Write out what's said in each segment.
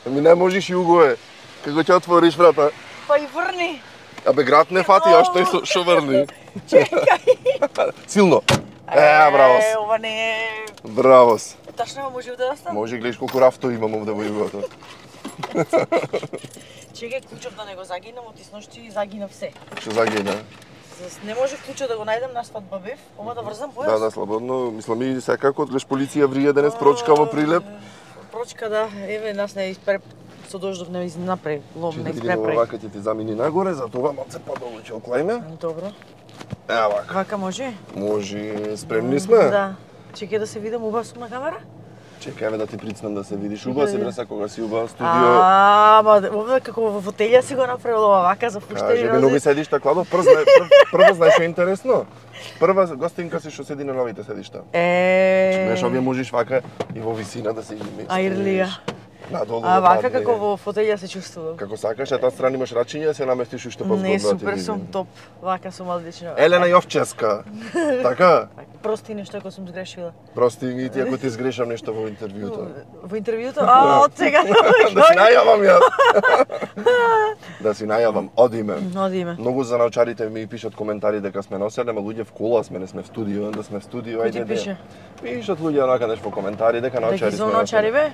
Ми не можеш Југо е. Како ќе отвориш врата? Па и врни. Абе град не фати, а што врни? Чекај. Силно. Бравос. Ова не е... Бравос. Ташно може да остане? Може, гледаш колку рафто имам овде во Југото. Чекај, клучов да не го загинам, отисношти загинав се. Што загина? Не може клучо да го најдем на свадба бев, ова да врзам појас? Да, слободно. Мислам и секако, гледаш полиција врие денес прочка во Прилеп. Прочка, да. Еве, нас не испреп... Со дождов не напре, лом не испрепре. Че да видиме вака ќе ти замини нагоре, за това малце подолу ќе оклајме. Добро. Вака. Вака може? Може, спремни сме? Да. Чекај да се видам, убав сум на камера? Чекај, еве да ти прицнам да се видиш. Убав си, бреса, кога си убав студио. Ма овде како во фотелја си го направил ова вака за пуштени рози. Кажи, нови седишта, Кладов. Прво знаеш што е интересно? Прва гостинка си што седи на новите седишта. Знаеш, овие можеш вака и во висина да се изместиш. Аирлија. Надолу. Вака како во фотелја се чувствувам. Како сакаш, таа страна имаш рачиња, се наместиш уште позгодно. Не, супер сум топ. Вака сум одлично. Елена Јовческа. Така? Прости нешто ако сум сгрешила. Прости и ти ако ти сгрешам нешто во интервјуто. Во интервјуто? Од сега. Да си најавам јас. Да си најавам, одиме. Одиме. Многу за научарите ми пишат коментари дека сме на 7 луѓе в кола, сме не сме в студио, да сме в студио, ајде. Кој ти пише? Пишат луѓе онака нешто во коментари дека научари сме. Дека научари бе?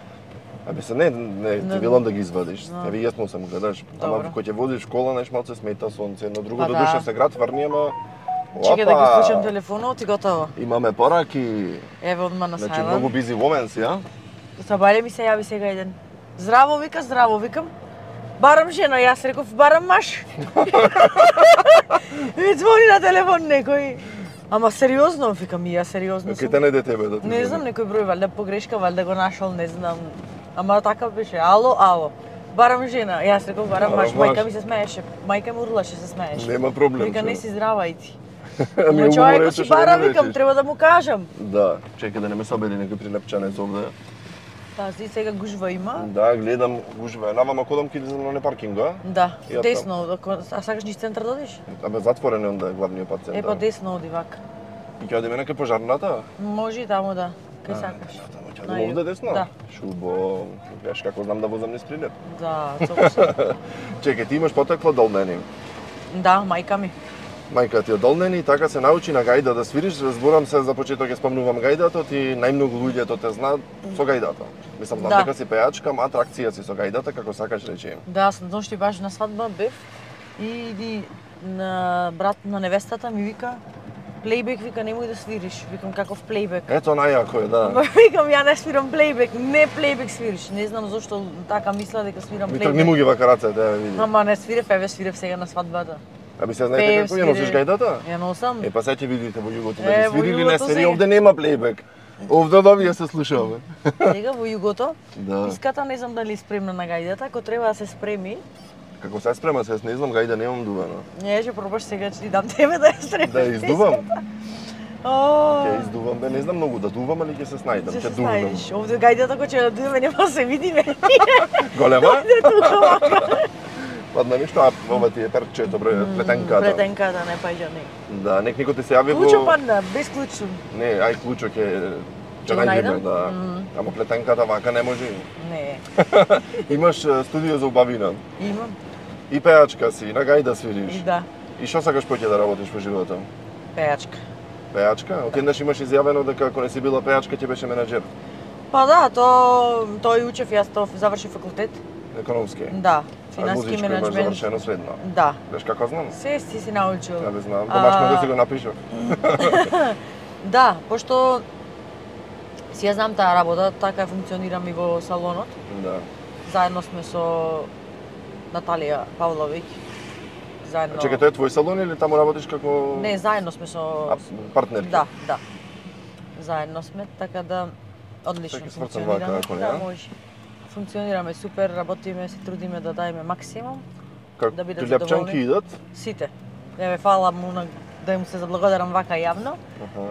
Абе се не, ти велам да ги извадиш. Еве јасно сам гледаш. Ама кој ќе водиш школа, неш малце смета сонце, едно друго до душа се град врни, ама чекај да ги вклучам телефонот и готово. Имаме пораки. Еве одма на Значи сајлен. многу busy women си, а? Сабајле ми се јави сега еден. Здраво викам. Барам жена, јас реков барам маж. Ми звони на телефон некој. Ама сериозно, викам и ја сериозно сум. Ке те најде тебе да ти. Не знам, некој број, валјда погрешка, валјда го нашол, не знам. Ама така беше, ало. Барам жена, јас реков барам маж, мајка ми се смееше, мајка ми урлаше се смееше. Нема проблем. Вика не си здрава и ти. Ами човек си бара, викам, треба да му кажам. Да, чекај да не ме собери некој прилепчанец овде. Пази, сега гужва има. Да, гледам гужва. Навама кодам ки на паркинга. Да, десно, а сакаш низ центар да одиш? Абе затворен е онда главниот пат центар. Па десно оди вака. И ќе одиме на пожарната? Може и таму да. Кај сакаш? Ќе одиме овде десно? Да. Шубо, знаеш како знам да возам низ Прилеп. Да, цокусо. Чекај, ти имаш потекло долнени. Да, мајка ми. Мајка ти од Долнени и така се научи на гајда да свириш. Разборам се за почеток ќе спомнувам гајдато, ти најмногу луѓето те знаат со гајдата. Мислам знам дека си пејачка, ама атракција си со гајдата, како сакаш речи. Да, сам ношти баш на свадба бев и на брат на невестата ми вика плейбек, вика немој да свириш. Викам каков плейбек? Ето најако е, да. Викам ја не свирам плейбек, не плейбек свириш. Не знам зошто така мисла дека свирам плейбек. Ми тргни му ги вака рацете, да види. Ама не свирев, еве свирев сега на свадбата. Аби се знаете како ја носиш гајдата? Ја носам. Па сега ќе видите во југото дали свирили не свири, овде нема плейбек. Овде овие се слушаме. Сега во југото, да. Иската не знам дали спремна на гајдата, ако треба да се спреми. Како се спрема, се не знам гајда немам дувано. Не, ќе пробаш сега ќе ти дам тебе да ја спремиш. Да ја издувам. Ќе издувам, бе, не знам многу да дувам, али ќе се снајдам, ќе дувам. Овде гајдата кој ќе да дуваме нема се видиме. Голема? Ладно ништо, а ова ти е перчето, плетенката. Плетенката, не паѓа не. Да, никој ти се јави во... Клучо падна, без клучо. Не, ај клучо ќе најдеме, да. Ама плетенката вака не може. Не. Имаш студио за убавина. Имам. И пејачка си, на гајда свириш. Да. И што сакаш поќе да работиш во животот? Пејачка. Пејачка? Отеднаш имаш изјавено дека ако не си била пејачка ќе беше менаџер. Па да, тој учев, јас завршив факултет. Економски? Да, финански менеджмент. Музичко имаш завршено средно? Да. Знаеш како знам? Се си научил. Да, бе знам. Домашно да си го напишав. Да, пошто си ја знам таа работа, така функционирам и во салонот. Да. Заедно сме со Наталија Павловиќ. Заедно. Чекај, тоа е твој салон или таму работиш како... Не, заедно сме со... Партнерки? Да. Заедно сме, така да одлично функционираме. Да, може. Функционираме супер, работиме, се трудиме да даеме максимум. Да бидат задоволни. Лепчанки идат? Сите. Еве, фала му да им се заблагодарам вака јавно,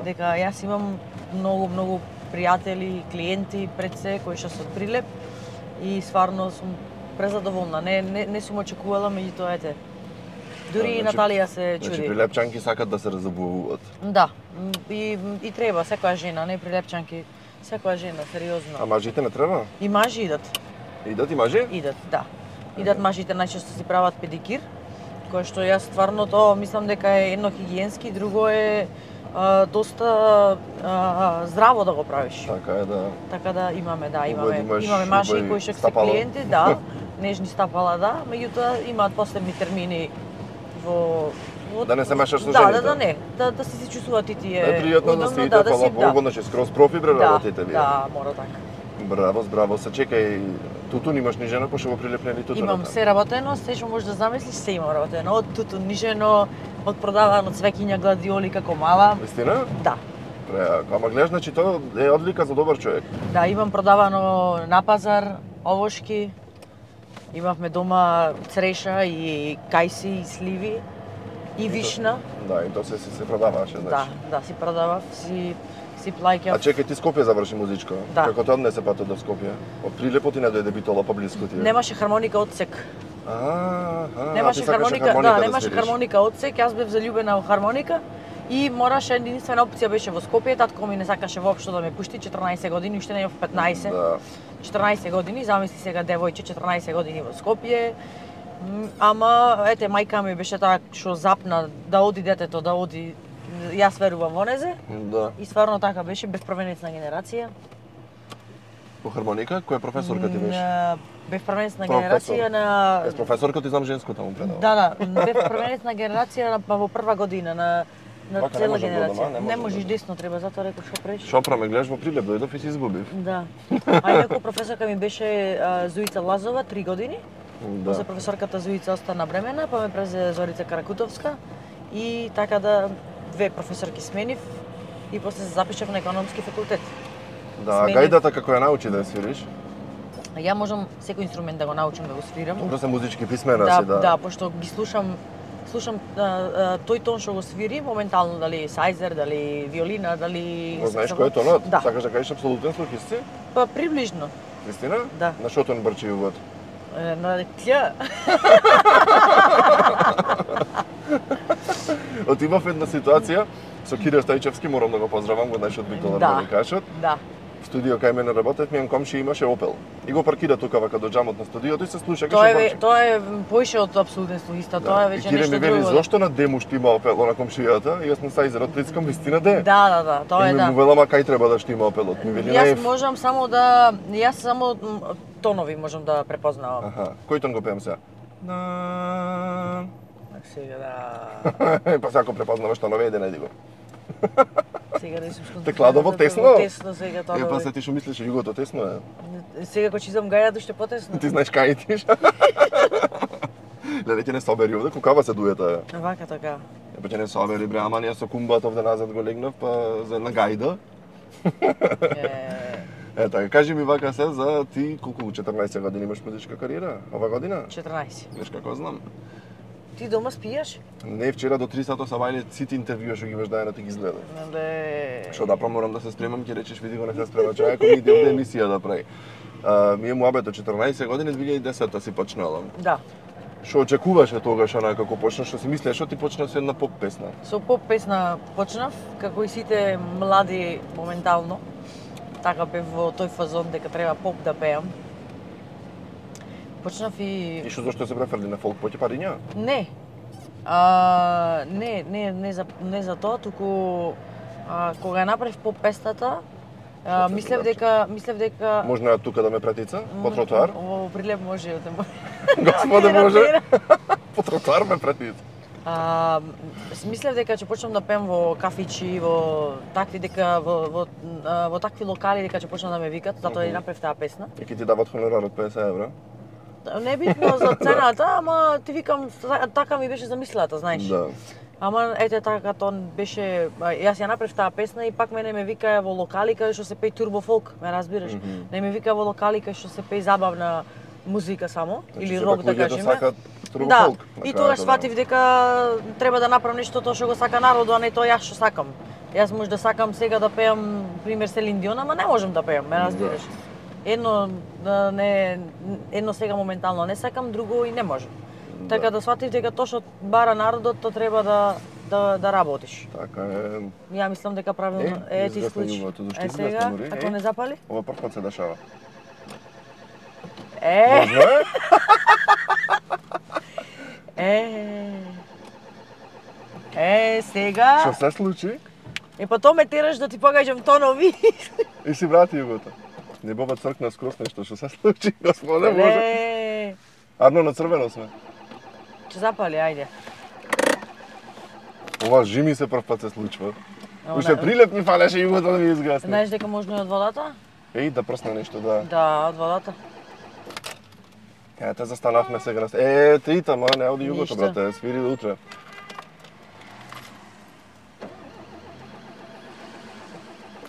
дека јас имам многу пријатели, клиенти пред се кои што се од Прилеп и стварно сум презадоволна. Не сум очекувала, меѓутоа ете. Дури и Наталија се чуди. Значи прилепчанки сакат да се разобуват. Да. И треба секоја жена, не прилепчанки. Секоја жена, сериозно. А мажите не треба? И мажи идат. Идат и мажи? Идат, да. Идат мажите најчесто си прават педикир, кое што јас стварно тоа мислам дека е едно хигиенски, друго е доста здраво да го правиш. Така е, да. Така да имаме имаш мажи кои што се стапало. клиенти, да, нежни стапала, да, меѓутоа имаат посебни термини во Да не се мешаш со жените. жените. Да си се чувствуваат и тие. Е пријатно да се иде, фала Богу, значи скроз профибре работите вие. Да, мора така. Браво, се чекај, тутун имаш нижено, пошто го прилепнели тутуната. Имам се работено, се што можеш да замислиш, се има работено. Од тутун нижено, од продавано цвеќиња, гладиоли како мала. Вистина? Да. Преако, ама гледаш, значи тоа е одлика за добар човек. Да, имам продавано на пазар, овошки. Имавме дома цреша и кајси и сливи и вишна. Да, и тоа се продаваше, значи. Да, си продавав, си плаќав. А чекај, ти Скопје заврши музичко. Да. Како те однесе патот до Скопје? Од Прилепо ти не дојде битола поблиску ти? Немаше хармоника одсек. Немаше хармоника, немаше хармоника одсек, јас бев залюбена во хармоника и мораше единствена опција беше во Скопје, татко ми не сакаше воопшто да ме пушти, 14 години, уште не имав 15. Да. 14 години, замисли сега девојче 14 години во Скопје. Ама ете мајка ми беше таа што запна да оди детето, да оди. Јас верувам во незе. Да. И стварно така беше, бев првенец на генерација. По хармоника, која професорка ти беше? Бев првенец на генерација на Ес професорка ти знам женско таму предава. Да, бев првенец на генерација во прва година на цела генерација. Не можеш десно, треба, затоа реков што преш. Шопра ме гледаш во Прилеп, дојдов и си изгубив. Да. А инаку професорка ми беше Зуица Лазова, 3 години. Да. За професорката Зуица остана бремена, па ме презе Зорица Каракутовска и така да две професорки сменив и после се запишав на економски факултет. Да, гајдата како ја научи да ја свириш? Ја можам секој инструмент да го научам да го свирам. Добро се музички писмена си, да. Да, пошто ги слушам тој тон што го свири, моментално дали сајзер, дали виолина, дали... Знаеш кој е тонот? Да. Сакаш да кажеш апсолутен слухист си? Па приближно. Вистина? Да. На шо тон брчи увод? На ќ. Отимав една ситуација со Кире Стајчевски, морам да го поздравам, го знаеш од Битола Армоникашот. Да. В студио кај мене работев, мијан комши имаше Опел. И го паркира тука вака до џамот на студиото и се слушаше. Тоа е поише од апсолутен слухиста, тоа е веќе нешто друго. И Кире ми вели, зошто на дему што има Опел на комшијата? И јас на сајзерот прискам, вистина де. Да, тоа е да. И ми велама кај треба да што има Опелот. Ми вели Јас можам само да, тонови можам да препознавам. Аха, кој тон го пеам сега? На. Сега да. Па сега препознаваш тонове, иде најди го. Сега да сум сконцентрирана. Текладово тесно? Тесно сега тоа. Па се ти што мислиш, југото тесно е. Сега кога чизам гајато ще потесно. Ти знаеш кај тиш. Леле ќе не собери овде, кукава се дуета. Вака така. Па ќе не собери бре, ама ние со кумбат овде назад го легнав, па за на гајда. Така, кажи ми вака се за ти колку 14 години имаш музичка кариера? Ова година? 14. Веш како знам. Ти дома спиеш? Не, вчера до 3 сато сабајле сите интервјуа што ги имаш дајано ти ги изгледав. Што да морам да се спремам, ќе речеш види го не се спрема човек, ми иде овде емисија да прави. Ми е муабето 14 години, 2010 си почнала. Да. Што очекуваше тогаш онака како почнаш, што си мислеш, што ти почнав со една поп песна? Со поп песна почнав, како и сите млади моментално. Така бев во тој фазон дека треба поп да пеам. Почнав и... И што зашто се преферли на фолк поќе париња? Не. Не за тоа, туку кога ја направив поп песната, мислев дека Можна тука да ме претица по тротоар? Во Прилеп може да ме. Господе може. По тротоар ме претица. Мислев дека ќе почнам да пеам во кафичи, во такви локали дека ќе почнам да ме викат, затоа и направив таа песна. И ќе ти дават хонорар од 50 евра? Не битно за цената, ама ти викам, така ми беше замислата, знаеш. Да. Ама ете така тоа беше, јас ја направив таа песна и пак мене ме викаа во локали каде што се пее турбо фолк, ме разбираш? Не ме викаа во локали каде што се пее забавна музика само или рок да кажеме. Да, и тогаш сватив дека треба да направам нешто тоа што го сака народот, а не тоа јас што сакам. Јас може да сакам сега да пеам пример Селин Дион, ама не можам да пеам, ме разбираш? Едно сега моментално не сакам, друго и не можам. Така да сватив дека тоа што бара народот, тоа треба да работиш. Така е. Ја мислам дека правилно ти исклучи. Сега, ако не запали? Ова прв пат се дешава. Можно е? Сега... Што се случи? Па то ме тераш да ти покажам тонови. И си врати југото. Небова цркна скрос нешто, што се случи, господе Боже. Арно на црвено сме. Че запали, ајде. Ова жими се прв пат се случува. Уште прилеп ми фалеше југото да ми изгасне. Знаеш дека можно и од водата? Еј, да прсне нешто, да. Да, од водата. Ете, застанавме сега на... ти тама, не оди југото, брате, свири до утре.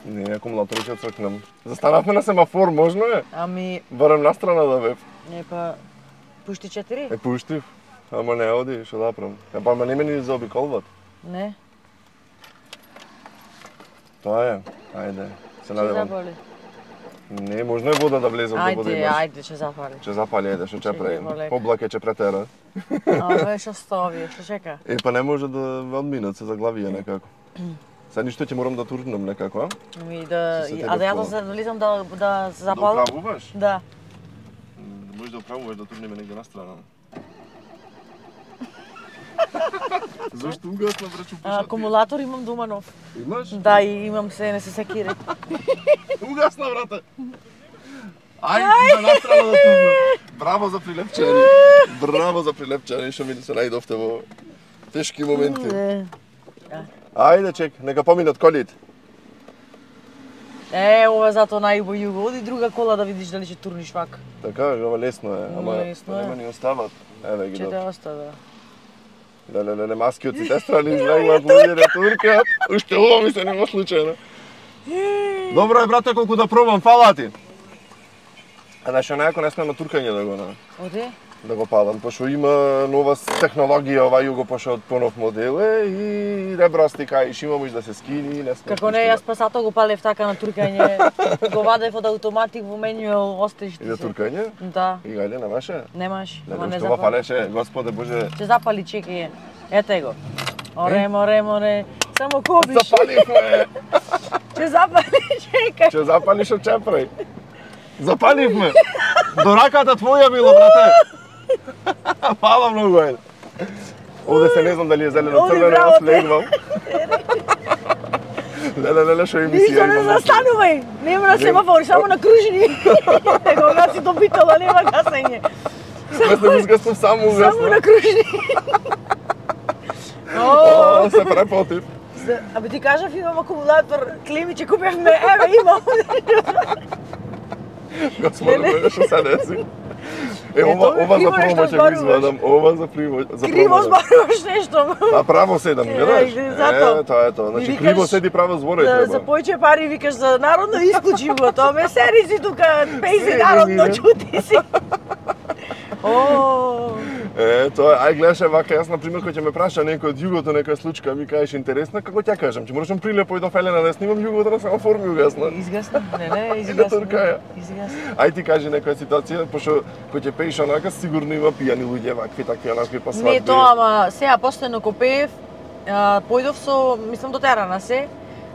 Не, акумулатори ќе цркнам. Застанавме на семафор, можно е? Ами... Барем настрана да бев. Па... Пушти 4? Пуштив. Ама не оди, што да правам. Па ме не ме ни заобиколват. Не. Тоа е. Ајде, се надевам. Ќе запали. Не, можно е вода да влезе од вода имаш. Ајде, ќе запали. Ќе запали, ајде, што ќе правим. Облаке ќе претера. Абе, што стови, што чека? Па не може да одминат се заглавија некако. Сега ништо ќе морам да турнам некако, а? Ами да... А да ја да влизам да се запалам? Да оправуваш? Да. Можеш да оправуваш да турнеме негде на страна. Зошто угасна, брачу, пушати? Акумулатор имам дома нов. Имаш? Да, и имам се, не се секири. Угасна, брате! Ајде, на страна да турнам. Браво за прилепчани. Браво за прилепчани, што ми се најдовте во тешки моменти. Ајде, чек, нека поминат колите. Ова зато најубаво југо. Оди друга кола да видиш дали ќе турниш вака. Така, ова лесно е, ама нема ни остават. Еве ги Ќе те добро. остава. Леле, маски од сите страни излегнат, луѓе не туркат. Уште ова ми се нема случајно. Добро е, брате, колку да пробам, фала ти. А нешто најако не сме на туркање да го Оди? Да го палам, пошто има нова технологија, ова југо пошто од понов модел е и ребрасти каиш, има може да се скини и не сме. Како не, јас пасато го палев така на туркање. Го вадев од автоматик во менјуел, остеш ти И за туркање? Да. И гајде, немаше? Немаш, ама не Што запали. фалеше, Господе Боже. Ќе запали, чекај. Ете го. Море. Само кобиш. Запаливме! Ќе запали, чекај. Ќе запалиш од чепрај. Запаливме! До раката твоја било, брате! Фала многу, ајде. Овде се не знам дали е зелено црвено, јас легвам. Леле, што емисија Ништо не застанувај. Нема на семафор, само на кружини. Кога си добитала, нема гасење. Јас не изгаснав само угаснав. Само на кружини. О, се препотив. Абе ти кажав имам акумулатор, клими че купевме, еве имам. Господе, Боже, што се деси? Ова за промо ќе го извадам, ова за промо. Криво зборуваш нешто. А право седам, гледаш? Тоа е тоа. Значи криво седи, право зборај За појче пари викаш за народно исклучи го, тоа ме сери си тука, пејзи народно чути си. Тоа, ај гледаш вака, јас на пример кој ќе ме праша некој од југото нека случка, ми кажеш интересна, како ќе кажам, ќе морам прилепо и до Фелена да снимам југото на семафор ми угасна. Изгасна, не, изгасна. Ај ти кажи некоја ситуација, пошто кој ќе пееш онака сигурно има пијани луѓе вакви, такви онакви па свадби. Не тоа, ама сега постојано ко пеев, појдов со, мислам до терана се,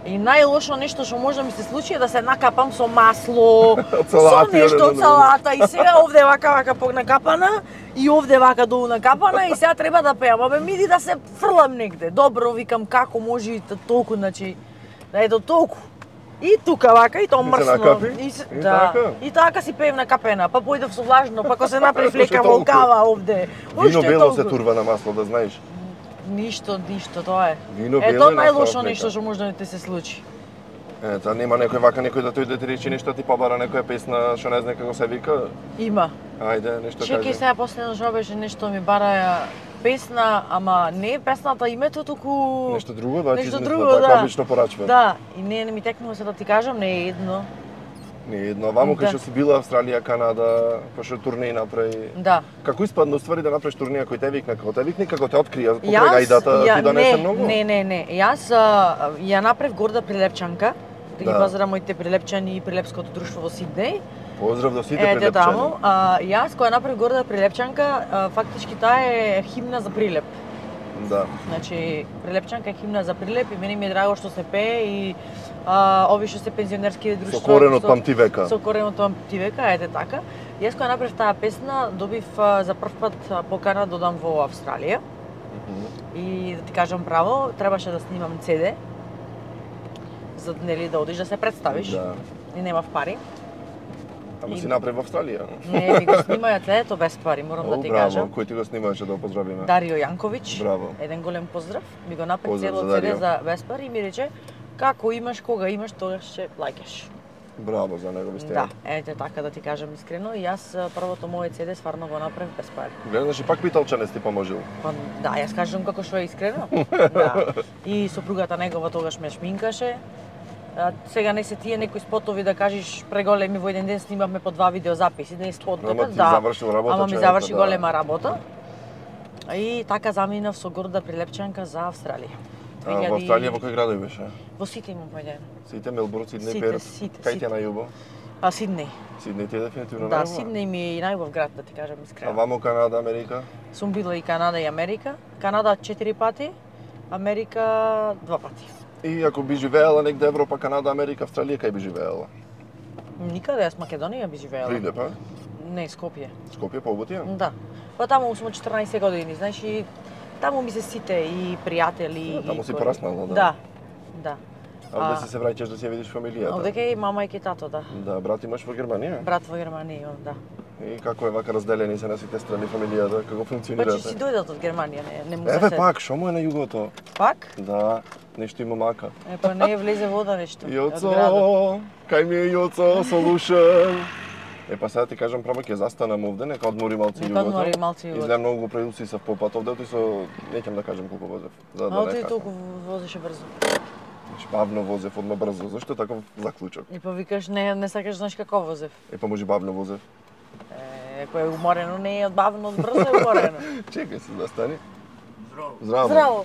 и најлошо нешто што може да ми се случи е да се накапам со масло, со нешто од салата и сега овде вака накапана и овде вака долу накапана и сега треба да пеам. Абе миди да се фрлам негде. Добро, викам како може и толку, значи да е до толку. И тука вака, и тоа мрсно. И така си пеем накапена, па појдев со влажно, па ко се направи флека волкава овде. Вино бело се турва на масло, да знаеш. Ништо, тоа е. Вино е бело тоа најлошо нешто што може да ти се случи. Ета, нема некој вака некој да тојде да ти рече нешто, ти побара некоја песна што не знае како се вика? Има. Ајде, нешто кажи. Чекај сега последно што беше нешто ми бараја песна, ама не е песната името, туку нешто друго, да, нешто ти друго, така обично порачува. Да, и не ми текнува се да ти кажам, не е едно. Не е едно, ваму кај што си била Австралија, Канада, пошто турнеи направи. Да. Како испадна уствари да направиш турнеја кој те викна, како те викна, како те открија, покрај гајдата ти донесе многу? Не. Јас ја направив горда прилепчанка, да ги пазарам моите прилепчани и прилепското друштво во Сиднеј. Поздрав до сите прилепчани. Јас кога направив горда прилепчанка, фактички таа е химна за прилеп. Да. Значи, Прилепчанка е химна за Прилеп и мене ми е драго што се пее и ови што се пензионерски друштва. Со корен од памти века. Со корен од памти века, ете така. Јас кога направив таа песна, добив за прв пат покана да одам во Австралија. И да ти кажам право, требаше да снимам CD, за нели да одиш да се представиш. Да. И немав пари. Ама си направи во Австралија. Не, ми го снимаја CD-то без пари, морам да ти кажам. Кој ти го снимаше да го поздравиме? Дарио Јанковиќ. Браво. Еден голем поздрав. Ми го направи Поздрав цело за Дарио. CD за без пари и ми рече како имаш, кога имаш, тогаш ќе плаќаш. Браво за негови стени. Да, ете така да ти кажам искрено. И јас првото моје CD стварно го направив без пари. Гледаш и пак Питалчанец ти поможил. Па да, јас кажам како што е искрено. Да. И сопругата негова тогаш ме шминкаше. Сега не се тие некои спотови да кажеш преголеми, во еден ден снимавме по 2 видеозаписи, не спотови, Ама ти да. завршил работа, Ама ми човека, заврши да. голема работа. И така заминав со горда Прилепчанка за Австралија. Во Австралија во кој градови беше? Во Сиднеј имам појден. Сите, Мелбурн, Сиднеј, Сите, Перт. сите, Кај ти е сите. најубав? Сиднеј. Сиднеј ти е дефинитивно Да, најубав? Сиднеј ми е и најубав град, да ти кажам А искрено. вамо Канада, Америка? Сум била и Канада и Америка. Канада 4 пати, Америка 2 пати. И ако би живеела негде Европа, Канада, Америка, Австралија, кај би живеела? Никаде, јас Македонија би живеела. Прилеп, а? Не, Скопје. Скопје побутија? Да. Па таму сум од 14 години, значи таму ми се сите и пријатели. Таму и си кои- пораснала, да? Да. Да. А овде си се враќаш да си ја видиш фамилијата? Овдека и мама и тато, да. Да, брат имаш во Германија? Брат во Германија, имам, да. И како е вака разделени се на сите страни фамилијата, како Па че функционирате? си дојдат од Германија, не му се Еве се- пак, што му е на југото? Пак? Да, нешто има мака. Па не влезе вода нешто. од градот. Јоцо, кај ми е Јоцо, солушен. Па сега ти кажам право ќе застанам овде, нека одмори малце Нека југото. одмори малце југото. Изгледам многу преуси се по пат овде, со неќам да кажам колку возев. За А да ти не толку возеше брзо. бавно возев, одма брзо. Зашто таков заклучок? И повикаш не сакаш знаеш како возев. Па може бавно возев. Кој е уморено не е од бавно, од брзо е уморено. Чекај се, застани. Здраво. Здраво. Здраво.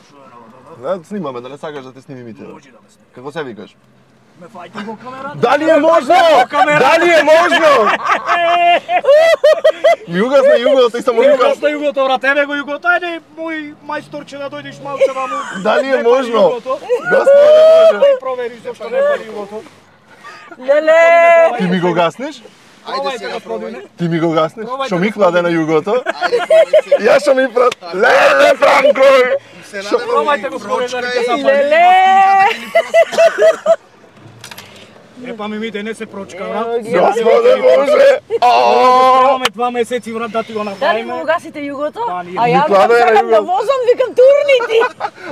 Да, снимаме, да не сакаш да те снимим и тебе. Може да ме снима. Како се викаш? Ме фајте во камерата. Дали е можно? Дали е можно? Ми угасна југото и само Ти викам, на југото, брат, еве го југото. Ајде, мој мајсторче да дојдеш малце ваму. дали е Не пали можно? југото. Господе Боже. Да провериш зошто не пали југото. Леле! Ти ми го гаснеш? Ајде сега пробај. Ти ми го гаснеш? Пробајте Што ми да кладе на југото? Ајде, пробај се. Јас што ми прат. Леле, Франко! Се надевам Пробајте го прочка според е. да се Леле! Па ми мите не се прочка, брат. Господе Боже! Требаме 2 месеци, брат, да ти го Дали направиме. му гасите југото? Да, ние. А ја кладе на сакам да југото. возам, викам турнити.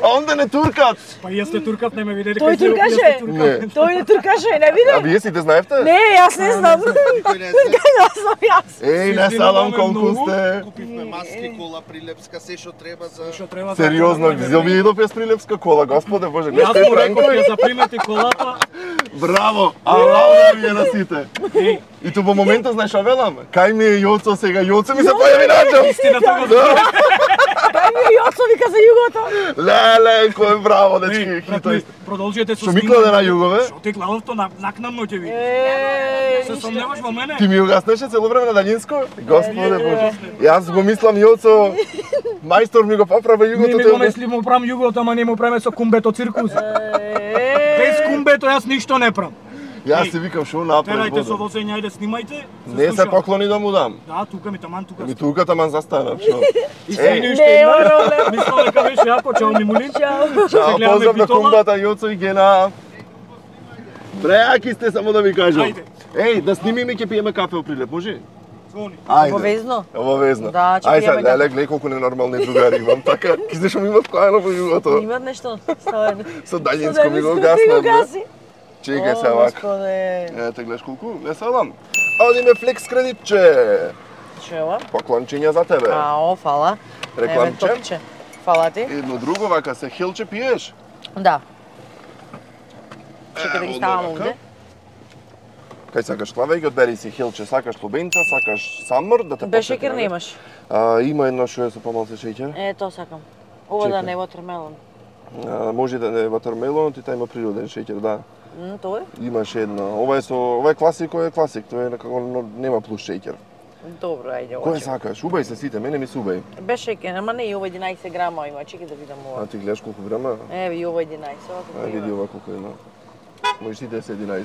А онде не туркат! Па јас те туркав, не ме видели. Тој кај се, јас туркаше? те туркав. Не. Тој не туркаше, не А виде? вие сите знаевте? Не, јас не знам. Никој не знае. Не знам јас. Еј, не салам колку сте. Купивме маски, кола, прилепска, се што треба за... Што треба за- Сериозно, зел ми идов јас Прилепска кола, Господе Боже, гледаш Јас кај му реков Франко? ќе запримети колата. Браво! Алауна ви е на сите. Еј, И ту во моментот знаеш што велам? Кај ми е Јоцо сега? Јоцо ми се појави најчам. истината го знам. Дај ми јоцо, вика за југото. Леле, кој е браво, дечки, Еј, брат, хитој. продолжете со Што ми кладе на југове? Што ти главото накнамно ќе видиш. Се Еј, сомневаш во мене? Ти ми го гаснеше цело време на daljinsko? Господе Боже. Јас го мислам Јоцо, мајстор ми го поправа Ние југото ми те. го мисли му прам југото, ама не му преме со кумбето циркус. Без кумбето јас ништо не прам. Јас си викам шо направи Терајте со вода. возење, ајде снимајте. Не се слушам. поклони да му дам. Да, тука ми таман тука. Ми тука таман застанав, шо. Извини Еј, уште Нема една. проблем. Мислам дека беше јако, чао ми молим. Чао. чао, гледаме поздрав на битола. кумбата Јоцо и Гена. Преаки сте, само да ви кажам. Ајде. Еј, да снимиме ќе пиеме кафе у Прилеп, може? Звони. Ајде. Обавезно? Обавезно. Да, ќе Ај пиеме сега, кафе. леле, глеј колку ненормални другари имам, така, ки знаеш што ми има вкаено во југото. Имат нешто ставено. Со daljinsko ми го гаснам. Чекај се вака. Господе. Ете, гледаш колку, не салам. Одиме флекс кредитче. Чела? Поклончиња за тебе. Ао, фала. Рекламче. Еве, топче. Фала ти. Едно друго вака се хилче пиеш. Да. Чекај да ги ставам Одно вака. овде. Кај сакаш клаве ги одбери си хилче, сакаш лубенца, сакаш самор да те Без посети, шеќер нели? немаш. Има едно што е со помалце шеќер. Е, тоа сакам. Ова да Чекај. не е watermelon. Може да не е ватермелон, ти тај има природен шеќер, да. Тоа е? Имаш едно. Ова е класик, тоа е класик, тоа е некако нема плюс шеќер. Добро, ајде ова. Кој сакаш? Убај се сите, мене ми се убај. Беше ке, ама не и ова 11 грама има, чекај да видам ова. А ти гледаш колку грама? Еве и ова 11, ова А колку види има. ова колку има. Можеш сите да се 11.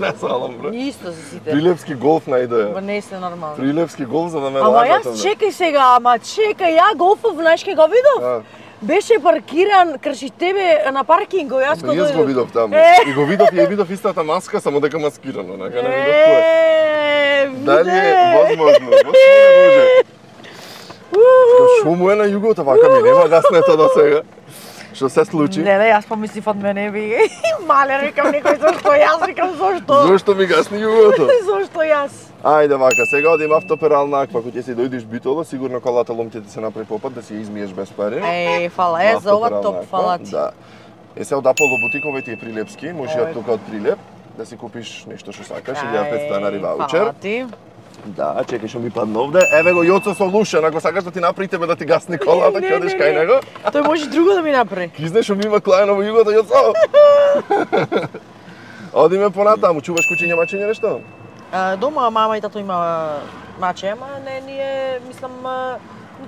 Не салам, бре. Исто се сите. Прилепски голф најдоја. Ма не се нормално. Прилепски голф за да ме Ама лагат. јас чекај сега, ама чекај, ја голфов, знаеш ке го видов? Беше паркиран крши тебе на паркинг, јас Ама кога јас го видов таму. И го видов, ја видов истата маска, само дека маскирано, нека не видов кој. Дали е возможно? Може. Што му е на југото, вака ми нема гаснето до сега. Што се случи? Не, јас помислив од мене би мале, рекам некој зошто јас, рекам зошто. Зошто ми гасни југото? Зошто јас? Ајде вака, сега одиме автоперална аква, кога ќе си дојдеш Битола, сигурно колата лом ќе ти се направи попат да си ја измиеш без пари. Фала, за ова топ, фала ти. Да. Се од Аполо бутиковите и Прилепски, можеш ја тука од Прилеп да си купиш нешто што сакаш, 1500 на ваучер. Фала ти. Да, чекај што ми падна овде. Еве го Јоцо Солушен, ако сакаш да ти направи тебе да ти гасни колата, ќе одиш кај него. Тој може друго да ми направи. Кизнеш што ми има клајано во југото, Јоцо. Одиме понатаму, чуваш кучиња мачиња нешто? Дома мама и тато има маче, ама не ние, мислам,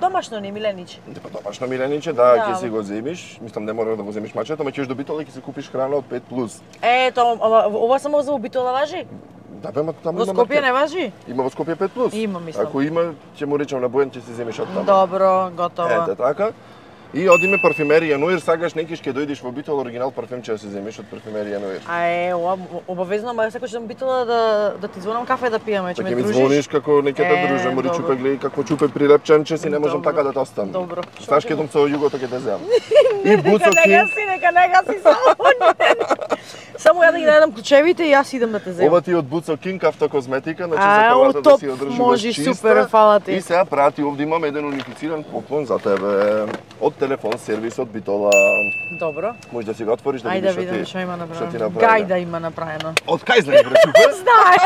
домашно не милениче. Па домашно милениче, да, ќе си го земиш. Мислам не мора да го земиш мачето, ама ќе до Битола и ќе си купиш храна од 5+. Ето, ова само за Битола важи? Да, бе, таму Во има Скопје маркет. не важи? Има во Скопје 5+. Има, мислам. Ако има, ќе му речам на Бојан, ќе си земиш од таму. Добро, готово. Ете така. И одиме парфюмерија Ноир, сакаш некиш ќе дојдеш во Битола оригинал парфем ќе си земиш од парфюмерија Ноир. Ова обавезно, ама секој ќе Битола да ти звонам кафе да пиеме, ќе Па ме ќе ми дружиш. звониш како неќе те друже, мори добро. чупе гледај како чупе прилепченче си не можам Добро. така да те оставам. Добро. Знаеш ке дом со југото ќе те земам. И Буцо Кинг. Нека не гаси само. Само ја да ги најдам клучевите и јас идам да те земам. Ова ти од Буцо Кинг автокозметика, значи за колата да топ, си одржуваш може, чиста. супер, фала ти. И сега прати овде имам еден унифициран поклон за тебе од телефон сервис од Битола. Добро. Може да си го отвориш да Ајде видиш да видам што има што ти направено. направено. Гајда има направено. Од кај знаеш бре чупе? Знае.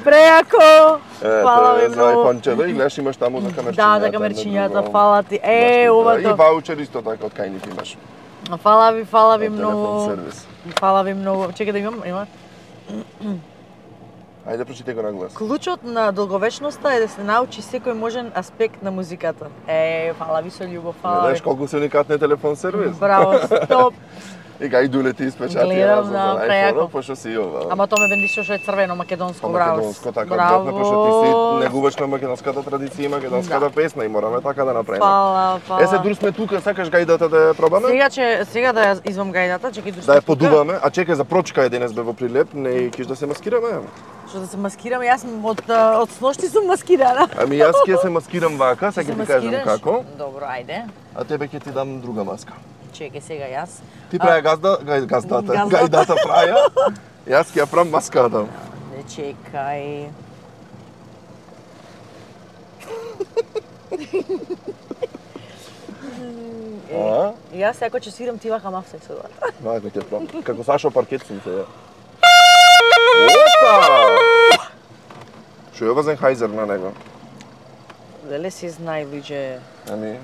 Преако. Фала ви За многу. айфончето и гледаш имаш таму за камерчињата. Да, за камерчињата, фала ти. Ова И тоа. ваучер исто така од кај ни имаш. Фала ви Од телефон многу. сервис. Фала ви многу. Чекај да има. Ајде прочитај го на глас. Клучот на долговечноста е да се научи секој можен аспект на музиката. Фала ви со љубов, фала Знаеш ви. колку се уникатни телефон сервис? Браво, стоп. И гај дуле ти испечати Гледам, за да, преако. iPhone, пошто си ова. Ама тоа ме бендишо што е црвено македонско, Па браво. македонско така добно, пошто ти си негуваш на македонската традиција и македонската песна и мораме така да направиме. Фала, фала. Е се дур сме тука, сакаш гајдата да ја пробаме? Сега да ја извам гајдата, чекај Да ја тука. подуваме, а чекај за прочка е денес бе во Прилеп, не киш да се маскираме. Што да се маскирам, јас од сношти сум маскирана. Ами јас ќе се маскирам вака, сега ќе ти кажам како, Добро, ајде. а тебе ќе ти дам друга маска. Чекај сега јас. Ти праја gazdata, Gazdata. гајдата праја, јас ќе ја правам маската. Не чекај. А? Јас ако ќе свирам ти вака мав сексуална. Вака ќе правам. Како Сашо паркет сум сега. Опа! Што е ова Зенхайзер на него? Леле си знај луѓе. Ами,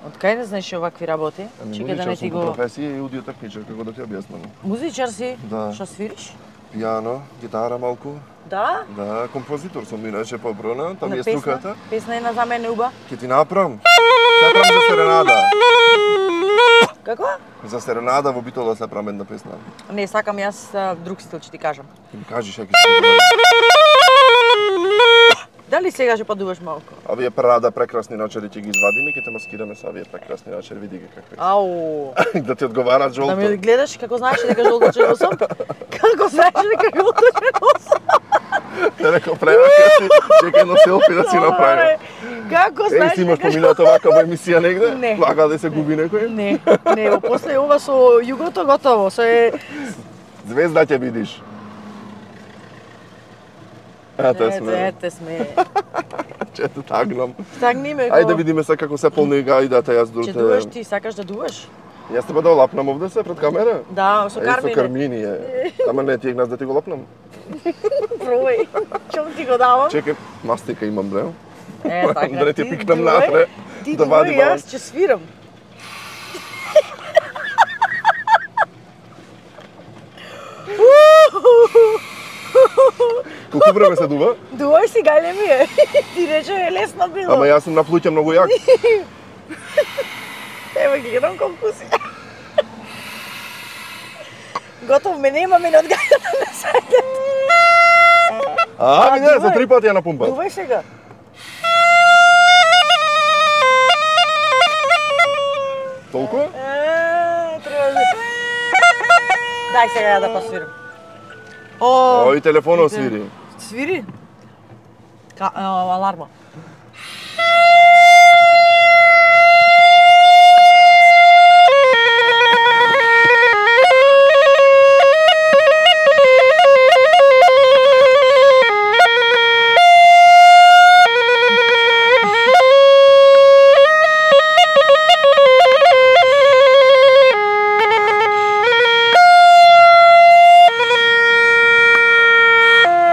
Од кај не знаеш овакви работи? Чекај да не ти сум по го... професија и аудио техничар, како да ти објаснам. Музичар си? Да. Што свириш? Пијано, гитара малку. Да? Да, композитор сум иначе поброна, там На е песна? струката. Песна една за мене уба. Ќе ти направам. Се правам за серенада. Како? За серенада во Битола се правам една песна. Не, сакам јас друг стил, ќе ти кажам. Ќе ми кажеш ја ќе се договори. Дали сега ќе подуваш малку? Овие парада прекрасни начери ќе ги извадиме, ќе те маскираме со овие прекрасни начери, види ги какви. Ау. Да ти одговарат Да жолто. ме гледаш како знаеш дека жолто черно сум? Како знаеш дека жолто черно сум? Те рекол прерака си, чекај едно селфи да си направи. Како Еј, знаеш си имаш дека поминато вака во емисија негде? Не. Вака да се губи некој? Не, не, после ова со југото готово, Звезда ќе видиш. Ете сме. Ете сме. Че те тагнам. Стагни ме. Ајде да видиме се како се полни гајдата, јас Ќе дурте. дуваш ти, сакаш да дуваш? Јас тебе да лапнам овде се пред камера? Да, со Со Кармине. Кармини е. Ама не, ти гнас да ти го лапнам. Пробај. Чом ти го давам? Чекај, мастика имам, бре. Така, Да не ти пикнам дуј, натре, Ти да вади дуј, јас баланс. ќе свирам. Колку време се дува? Дувај си, гајле ми е. Ти рече е лесно било. Ама јас сум на плуќе многу јак. Ева гледам колку си. Готов ме нема, мене од гајата не саѓат. Ами не, за 3 пати ја напумпат. Дувај сега. Толку? Треба да... Дај сега ја да посвирам. Ој, телефонот свири. Свири? Аларма.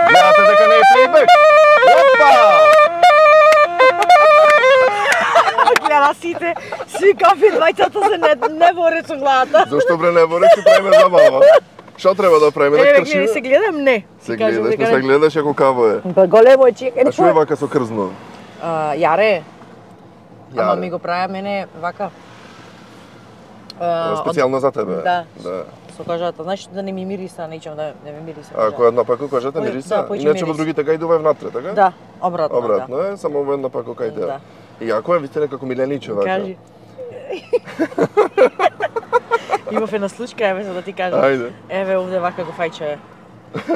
Гледате дека не е плейбек? Опа! Гледа сите, сви кафи двајцата се не боре со главата. Зошто бре не боре, ќе правиме забава? Што треба да правиме? Да Еве, кршиме? се гледам, не. Се гледаш, не се гледаш ако каво е. Па големо е, чекај. А што е вака со крзно? Јаре. Ама Јаре. ми го правя мене вака. Специјално за тебе? Да. Да. Со кожата, знаеш да не ми мириса, нечем да не ми мириса. А кој една пако кажете Кој- мириса? да, појче Иначе во мирис. другите гајдува е внатре, така? Да, обратно. Обратно е, само во една пако кај те. Да. И јако е, вите некако милениче вака. Кажи. Имав една случка, еве за да ти кажам. Ајде. Еве овде вака го фајче.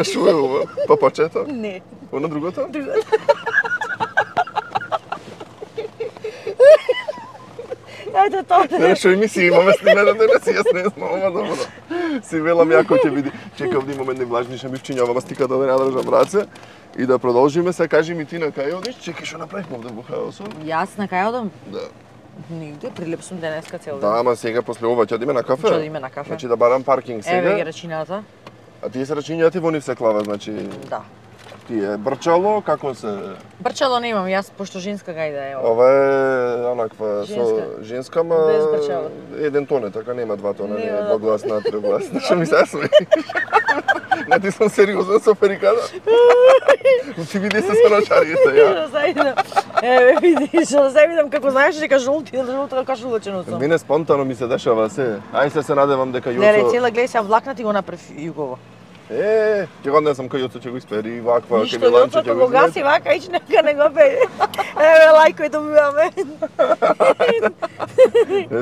Шо е ова? Папачето? Не. Оно другото? Ајде тоа. Не, шо емисија имаме снимено денес и јас не знам, ама добро. Си велам јако ќе биде. Чекав да имаме едни влажни шамивчиња, ова стика да не надржам раце. И да продолжиме се, кажи ми ти на кај одиш, чекај што направивме овде во хаосот. Јас на кај одам? Да. Нигде, прилеп сум денеска цел Да, ден. ама сега после ова ќе одиме на кафе. Ќе одиме на кафе. Значи да барам паркинг Еве ги сега. рачината. А тие се рачињата во нив се клава, значи Да. тие брчало, како се. Брчало немам, јас пошто женска гајда е ова. Ова е онаква Женска. со женска, ма Без брчало. еден тон е, така нема два тона, не Нема е два двогласна, трогласна. Што ми се смееш? Не, ти сум сериозен со ферикада. Ти види се со начарите, ја. Да се видам. Еве видиш, да се видам како знаеш дека жолти, жолта кашулачено сум. Мене спонтано ми се дешава се. Ај се надевам дека Не, Јоцо... цела гледај се влакнати го направи Југово. Ќе го однесам кај Јоцо, ќе го испери, ваква, Ништо кај Миланче Јоцо ќе го го гаси вака, ич нека не го пее. Еве лајкој добиваме.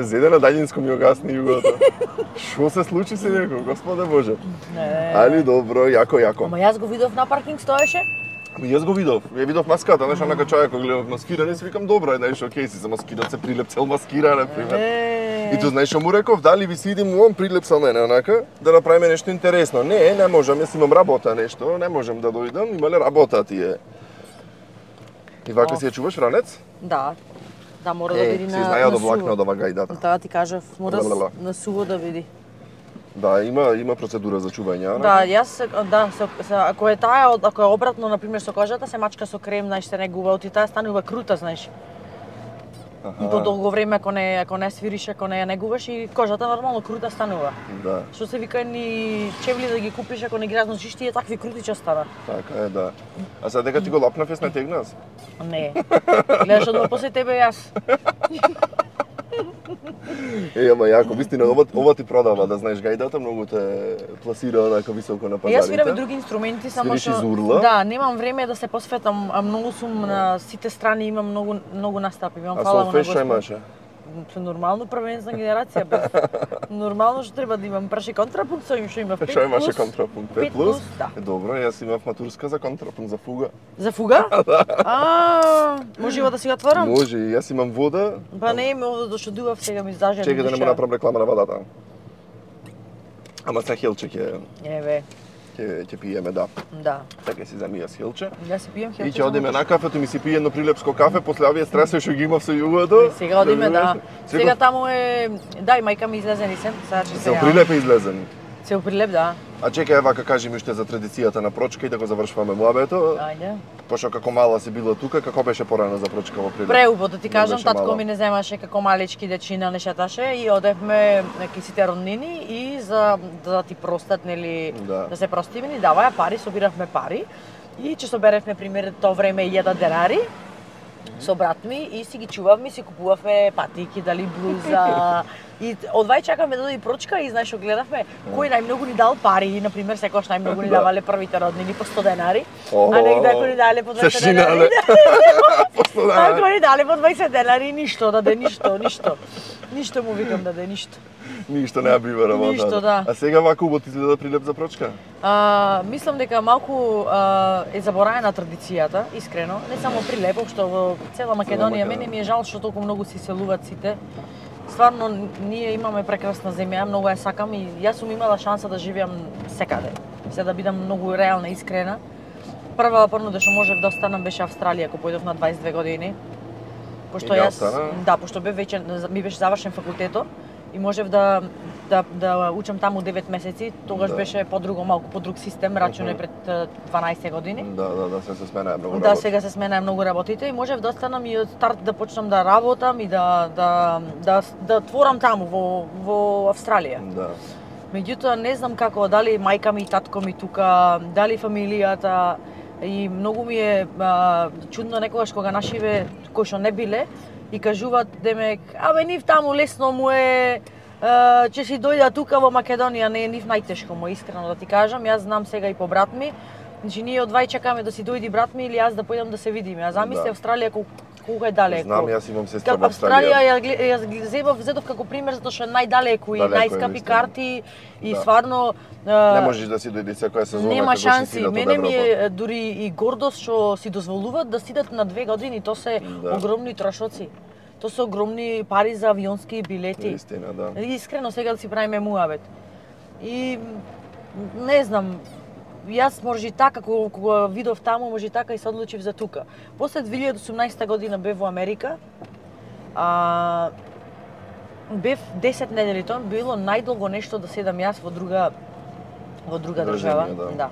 Зеде на Дајинско ми го гасни југото. Што се случи се некој, Господе Боже. Али добро, јако, јако. Ама јас го видов на паркинг стоеше. Ами јас го видов. Ја видов маската, знаеш, онака човек кој гледав маскиране, си викам добро е, знаеш, окей си за маскиран се прилеп цел маскира, например. И тоа знаеш што му реков, дали ви си идем он прилеп со мене, онака, да направиме нешто интересно. Не можам, јас имам работа нешто, не можам да дојдам, имале работа тие. И вака си ја чуваш ранец? Да. Да, мора да види си на знаја да суво. влакне од ова гајдата. Тоа ти кажав, мора Лелела. на суво да види. Да, има процедура за чување, Да, јас ако е таа, ако е обратно на пример со кожата, се мачка со крем, знаеш, се негува, оти таа станува крута, знаеш. И по долго време ако не свириш, ако не ја негуваш и кожата нормално крута станува. Да, Што се вика ни чевли да ги купиш ако не ги разносиш, тие такви крути ќе стана. така е, да. А сега дека ти го лапнав, јас не тегнас? Не. Гледаш одма после тебе јас. Ама јако, вистина, ова ти продава, да знаеш, гајдата многу те пласира онака високо на пазарите. Јас свирам и други инструменти, само Свириш што из урла? да, немам време да се посветам, а многу сум на сите страни, имам многу настапи, имам А фала со на феш што Господ. имаше? Нормално првенствена генерација бе. Нормално што треба да имам праши контрапункт, со им што имав 5+. Што имаше контрапункт? 5 плюс? Да. Добро, јас имав матурска за контрапункт, за фуга. За фуга? Можева да си го отворам? Може, и јас имам вода. Па не ми овде дошо дував, сега ми зажени. Чекај да не му направам реклама на водата. Ама са хелче Еве, ќе пиеме, да. да. Така си замија с хелче. Јас си пијам И хелче. ќе одиме на кафето, ми си пие едно прилепско кафе, после овие стресови што ги имав со југото. Сега одиме, да. Сега таму е... Да, и мајка ми излезени сем, сега ќе Се прилеп е излезен. Цел прилеп, да. А чекај, вака кажи ми уште за традицијата на прочка и да го завршуваме муабето. Ајде. Пошто како мала си била тука, како беше порано за прочка во Прилеп? Преубо да ти Не кажам, беше татко мала. ми не земаше како малички дечина не шеташе и одевме ки сите роднини и за да ти простат, нели, Да. да се простиме, ни даваја пари, собиравме пари И че соберевме пример тоа време 1000 денари со брат ми и си ги чувавме, си купувавме патики, дали блуза. И одвај чакаме да дојде прочка и знаеш што гледавме кој најмногу ни дал пари, на пример секогаш најмногу ни давале првите роднини по 100 денари, а некој ни дале по 20 денари. По 100 денари. Ако ни дале по 20 денари ништо, даде ништо. Ништо му викам даде ништо. Ништо не бива работа. Ништо, да. А сега вака убаво изгледа прилеп за прочка? Мислам дека малку е забораена традицијата, искрено, не само прилеп, што во цела Македонија. Мене ми е жал што толку многу се иселуваат сите. Стварно, ние имаме прекрасна земја, многу ја сакам и јас сум имала шанса да живеам секаде. Се да бидам многу реална, искрена. Прва порно што можев да останам беше Австралија, кога појдов на 22 години. Пошто јас, да, пошто ми беше завршен факултето и можев да учам таму 9 месеци, тогаш беше по-друго, малку по-друг систем, рачуне пред 12 години. Да, сега се сменаа многу работите. Да, сега се сменаа многу работите и можев да останам и од старт да почнам да работам и да творам таму во Австралија. Да. Меѓутоа не знам како, дали мајка ми и татко ми тука, дали фамилијата, и многу ми е чудно некогаш кога нашиве кои што не биле и кажуваат демек, нив таму лесно му е, ќе си дојда тука во Македонија, не е нив најтешко му, искрено да ти кажам. Јас знам сега и по брат ми, значи ние одвај чекаме да си дојди брат ми или јас да појдам да се видиме. А замисли Австралија колку е далеко. Знам, јас имам сестра во Австралија. Австралија зедов како пример затоа што е најдалеку и најскапи карти и стварно не можеш да си дојди секоја сезона. Нема шанси. Мене ми е дури и гордост што си дозволуваат да сидат на 2 години, тоа се огромни трошоци. Тоа се огромни пари за авионски билети. Истина, да. Искрено сега да си правиме муабет. И не знам, јас може и така, кога видов таму, може и така и се одлучив за тука. После 2018 година бев во Америка, бев 10 недели, тоа било најдолго нешто да седам јас во друга држава. Да.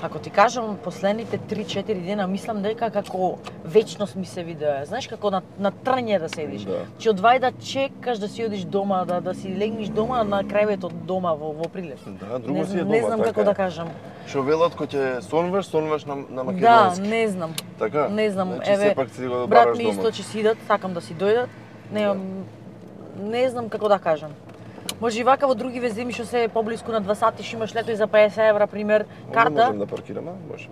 Ако ти кажам, последните 3-4 дена мислам дека како вечност ми се видеа. Знаеш како на трње да седиш. Че одвај да чекаш да си одиш дома, да си легнеш дома на крајвето дома во Прилеп. Да, друго си е дома. Не знам како да кажам. Што велат кога ќе сонваш на македонски. Да, не знам. Така? Не знам. Еве, брат ми исто ќе си идат, сакам да си дојдат. Не знам како да кажам. Може и вака во други веземи што се поблиску на 2 сати што имаш летој за 50 евра пример карта. Можем да паркираме, може.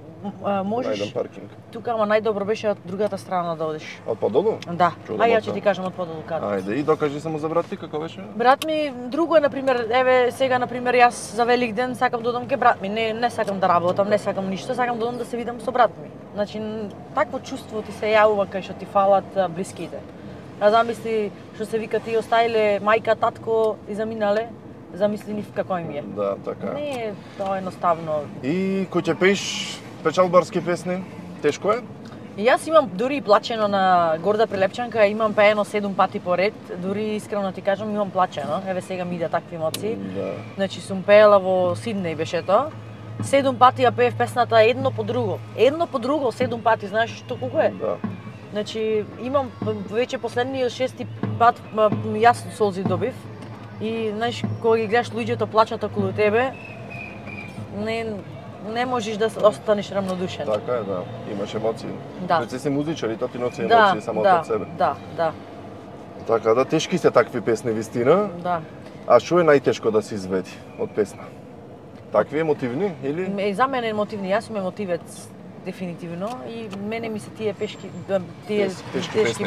Можеш. Најдам паркинг. Тука ама најдобро беше од другата страна да одиш. Од подолу? Да. Ја ќе ти кажам од подолу каде. Ајде и докажи само за брат ти како беше? Брат ми друго е на пример, еве сега на пример јас за Велик ден сакам да одам ке брат ми, не сакам да работам, не сакам ништо, сакам да одам да се видам со брат ми. Значи такво чувство ти се јавува кај што ти фалат блиските. А замисли што се вика ти оставиле мајка, татко и заминале, замисли нив како им е. Да, така. Не е тоа едноставно. И кој ќе пееш печалбарски песни, тешко е? Јас имам дури и плачено на Горда Прилепчанка, имам пеено 7 пати поред, дури искрено ти кажам имам плачено. Еве сега ми иде такви емоции. Да. Значи сум пеела во Сиднеј беше тоа. 7 пати ја пеев песната едно по друго. Едно по друго 7 пати, знаеш што колку е? Да. Значи, имам веќе последниот 6 пат јас солзи добив. И знаеш кога ги гледаш луѓето плачат околу тебе, не можеш да останеш рамнодушен. Така е, да. Имаш емоции. Да. Реци се музичари, тоа ти носи емоции само од себе. Да. Така да, тешки се такви песни вистина. Да. А што е најтешко да се изведи од песна? Такви емотивни или? За мене емотивни, јас сум емотивец дефинитивно и мене ми се тие тешки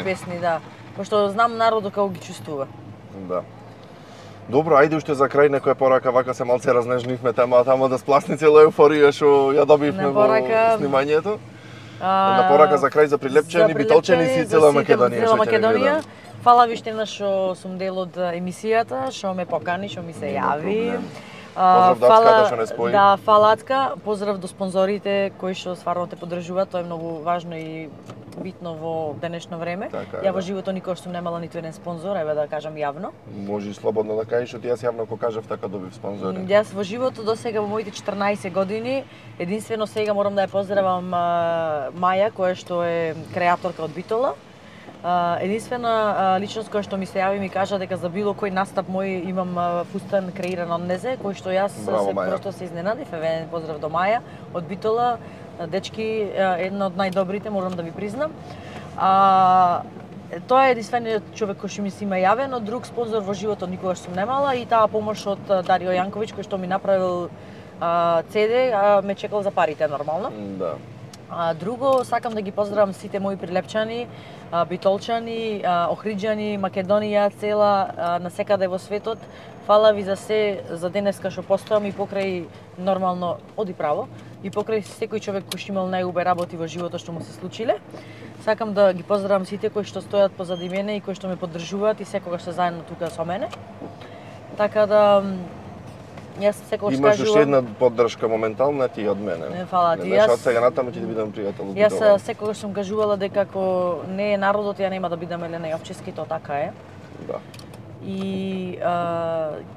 песни, да. Пошто знам народот како ги чувствува. Да. Добро, ајде уште за крај некоја порака, вака се малце разнежнивме темата, ама да спласни цела еуфорија што ја добивме во снимањето. На порака за крај за Прилепчани, Битолчани си цела Македонија. Цела Македонија. Фала ви штена што сум дел од емисијата, што ме покани, што ми се јави. Поздрав до Ацка што не спои. Да, фала Ацка, поздрав до спонзорите кои што стварно те поддржуваат, тоа е многу важно и битно во денешно време. Ја во животот никогаш сум немала ниту еден спонзор, еве да кажам јавно. Може слободно да кажеш, што јас јавно кога кажав така добив спонзори. Јас во животот до сега во моите 14 години, единствено сега морам да ја поздравам Маја, која што е креаторка од Битола. Единствена личност која што ми се јави ми кажа дека за било кој настап мој имам фустан креиран од незе, кој што јас просто се изненадив. Еве поздрав до Маја од Битола, дечки, една од најдобрите, морам да ви признам. Тоа е единствениот човек кој што ми се има јавен, од друг спонзор во животот никогаш сум немала и таа помош од Дарио Јанковиќ кој што ми направил CD, ме чекал за парите нормално. Да. Друго, сакам да ги поздравам сите мои прилепчани, битолчани, охриџани, Македонија цела, насекаде во светот. Фала ви за се, за денеска што постојам и покрај нормално оди право и покрај секој човек кој што имал најубави работи во животот што му се случиле. Сакам да ги поздравам сите кои што стојат позади мене и кои што ме поддржуваат и секогаш се заедно тука со мене. Така да јас секогаш кажувам. Имаш уште една поддршка моментална ти од мене. Не, фала ти. Јас од сега натаму ќе ти бидам пријател. Јас секогаш сум кажувала дека ако не е народот, ја нема да бидам Елена Јовчевски, тоа така е. Да. И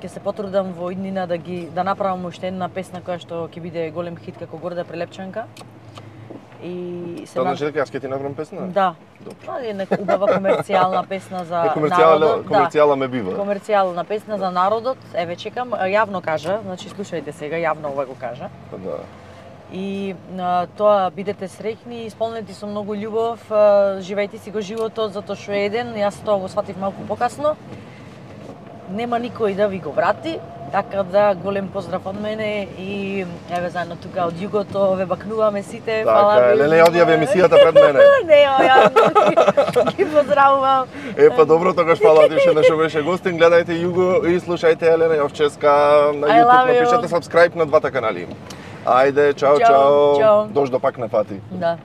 ќе се потрудам во иднина да направам уште една песна која што ќе биде голем хит како Горда прилепчанка. И се значи дека јас ќе ти направам песна? Да. Тоа е нека убава комерцијална песна за народот. Комерцијала ме бива. Комерцијална песна за народот. Еве чекам, јавно кажа, значи слушајте сега, јавно ова го кажа. Да. И тоа бидете среќни, исполнети со многу љубов, живејте си го животот затоа што е еден, јас тоа го сватив малку покасно. Нема никој да ви го врати, така да голем поздрав од мене и еве заедно тука од југото ве бакнуваме сите. Фала ви. Леле одјави емисијата пред мене. Не, ја ги поздравувам. Па добро, тогаш фала ти што беше гостин. Гледајте Југо и слушајте Елена Јовчевска на YouTube, напишете subscribe на двата канали. Ајде, чао, чао. Дождо пак не фати. Да.